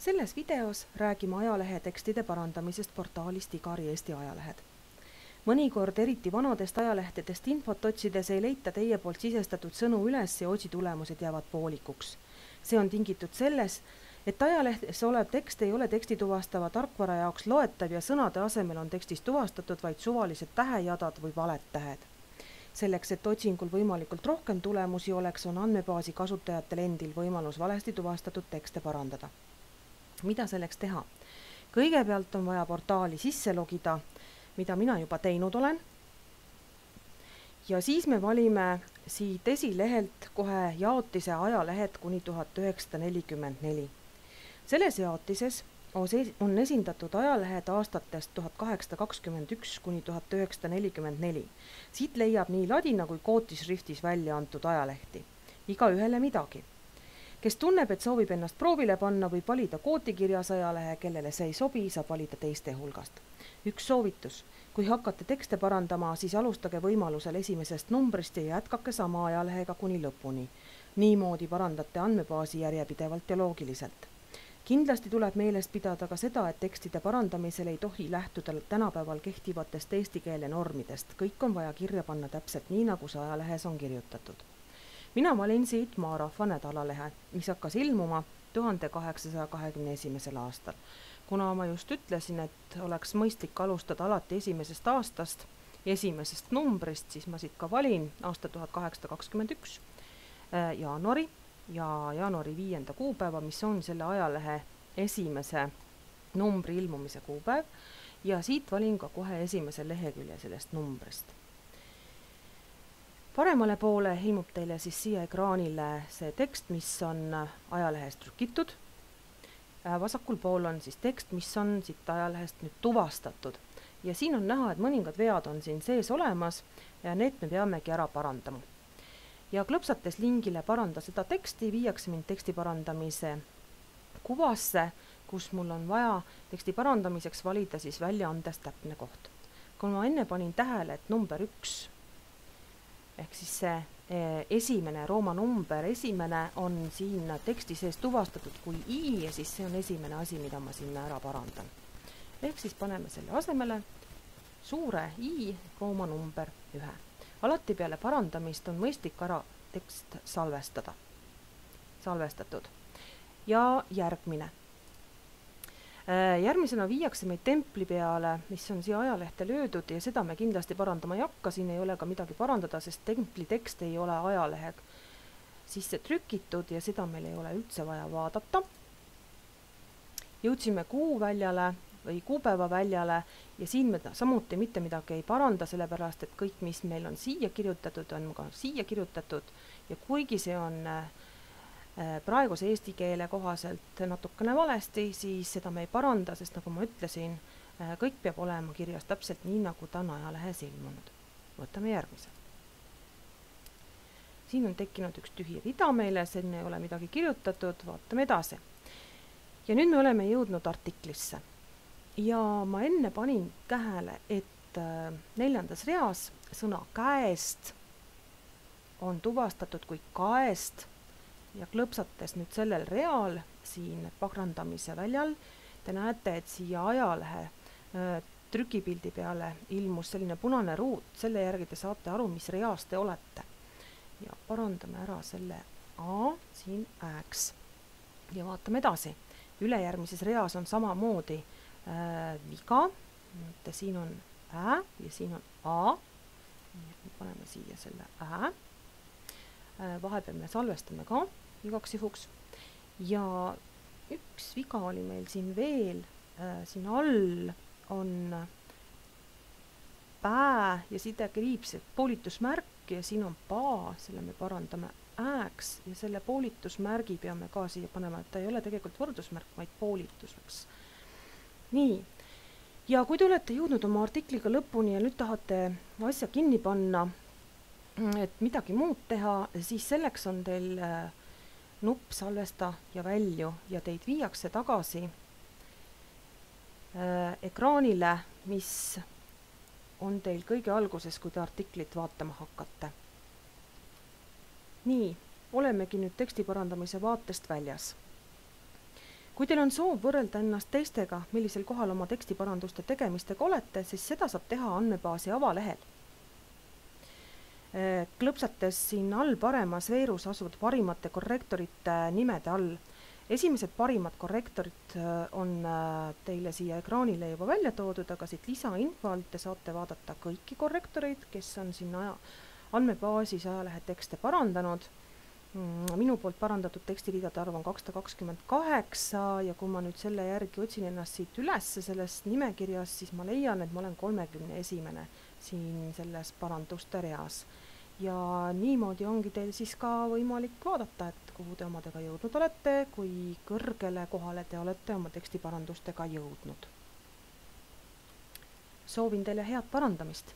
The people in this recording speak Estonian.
Selles videos räägime ajalehe tekstide parandamisest portaalist Igari Eesti ajalehed. Mõnikord eriti vanadest ajalehtedest infot otsides ei leita teie poolt sisestatud sõnu üles ja otsitulemused jäävad poolikuks. See on tingitud selles, et ajalehtes olev tekst ei ole teksti tuvastava tarkvara jaoks loetav ja sõnade asemel on tekstis tuvastatud vaid suvalised tähejadad või valed tähed. Selleks, et otsingul võimalikult rohkem tulemusi oleks, on andmebaasi kasutajatel endil võimalus valesti tuvastatud tekste parandada. Mida selleks teha? Kõigepealt on vaja portaali sisse logida, mida mina juba teinud olen. Ja siis me valime siit esilehelt kohe jaotise ajalehed kuni 1944. Selles jaotises on esindatud ajalehed aastatest 1821 kuni 1944. Siit leiab nii ladina kui kootisriftis välja antud ajalehti. Iga ühele midagi. Kes tunneb, et soovib ennast proovile panna, võib valida kootikirjas ajalehe, kellele see ei sobi, saab valida teiste hulgast. Üks soovitus. Kui hakkate tekste parandama, siis alustage võimalusel esimesest numbrist ja jätkake sama ajalehega kuni lõpuni. Niimoodi parandate andmebaasi järjepidevalt ja loogiliselt. Kindlasti tuleb meelest pidada ka seda, et tekstide parandamisel ei tohi lähtuda tänapäeval kehtivatest eesti keele normidest. Kõik on vaja kirja panna täpselt nii, nagu see ajalehes on kirjutatud. Mina valin siit Maarahva nädalalehe, mis hakkas ilmuma 1821. aastal. Kuna ma just ütlesin, et oleks mõistlik alustada alati esimesest aastast, esimesest numbrist, siis ma siit ka valin aasta 1821 jaanuari ja jaanuari 5. kuupäeva, mis on selle ajalehe esimese numbri ilmumise kuupäev, ja siit valin ka kohe esimese lehekülje sellest numbrist. Paremale poole ilmub teile siis siia ekraanile see tekst, mis on ajalehest trükitud. Vasakul pool on siis tekst, mis on siit ajalehest nüüd tuvastatud. Ja siin on näha, et mõningad vead on siin sees olemas ja need me peamegi ära parandama. Ja klõpsates lingile paranda seda teksti, viiakse mind teksti parandamise kuvasse, kus mul on vaja teksti parandamiseks valida siis väljaandes täpne koht. Kui ma enne panin tähele, et number 1 ehk siis see esimene rooma number, esimene on siin teksti sees tuvastatud kui I ja siis see on esimene asi, mida ma sinna ära parandan. Ehk siis paneme selle asemele suure I rooma number 1. Alati peale parandamist on mõistlik ära tekst salvestatud. Ja järgmine. Järgmisena viiakse meid templi peale, mis on siia ajalehte löödud ja seda me kindlasti parandama ei hakka, siin ei ole ka midagi parandada, sest templi tekst ei ole ajalehega sisse trükitud ja seda meil ei ole üldse vaja vaadata. Jõudsime kuu väljale või kuupäeva väljale ja siin me samuti mitte midagi ei paranda, sellepärast et kõik, mis meil on siia kirjutatud, on ka siia kirjutatud ja kuigi see on praeguse eesti keele kohaselt natukene valesti, siis seda me ei paranda, sest nagu ma ütlesin, kõik peab olema kirjas täpselt nii, nagu ta on ajalehes ilmunud. Võtame järgmise. Siin on tekkinud üks tühi rida meile, siin ei ole midagi kirjutatud, vaatame edasi. Ja nüüd me oleme jõudnud artiklisse. Ja ma enne panin tähele, et 4. reas sõna käest on tuvastatud kui kaest ja klõpsates nüüd sellel real siin parandamise väljal, te näete, et siia ajalehe trükipildi peale ilmus selline punane ruut, selle järgi te saate aru, mis reas te olete. Ja parandame ära selle A siin ääks. Ja vaatame edasi. Ülejärgmises reas on samamoodi viga, siin on ä ja siin on A. Paneme siia selle ä. Vahepeal me salvestame ka igaks juhuks. Ja üks viga oli meil siin veel, siin all on pää ja side kriips poolitusmärk ja siin on paa, selle me parandame ääks ja selle poolitusmärgi peame ka siia panema, et ta ei ole tegelikult võrdusmärk, vaid poolituseks. Nii, ja kui te olete jõudnud oma artikliga lõpuni ja nüüd tahate asja kinni panna, et midagi muud teha, siis selleks on teil nupp salvesta ja välju ja teid viiakse tagasi ekraanile, mis on teil kõige alguses, kui te artiklit vaatama hakkate. Nii, olemegi nüüd teksti parandamise vaatest väljas. Kui teil on soov võrrelda ennast teistega, millisel kohal oma tekstiparanduste tegemistega olete, siis seda saab teha andmebaasi avalehel. Klõpsates siin all paremas veerus asuvad parimate korrektorite nimede all. Esimesed parimad korrektorid on teile siia ekraanile juba välja toodud, aga siit lisainfo alt te saate vaadata kõiki korrektoreid, kes on siin andmebaasis ajalehe tekste parandanud. Minu poolt parandatud tekstiriidade arv on 228 ja kui ma nüüd selle järgi otsin ennast siit üles sellest nimekirjas, siis ma leian, et ma olen 31. siin selles paranduste reas. Ja niimoodi ongi teil siis ka võimalik vaadata, et kuhu te omadega jõudnud olete, kui kõrgele kohale te olete oma tekstiparandustega jõudnud. Soovin teile head parandamist!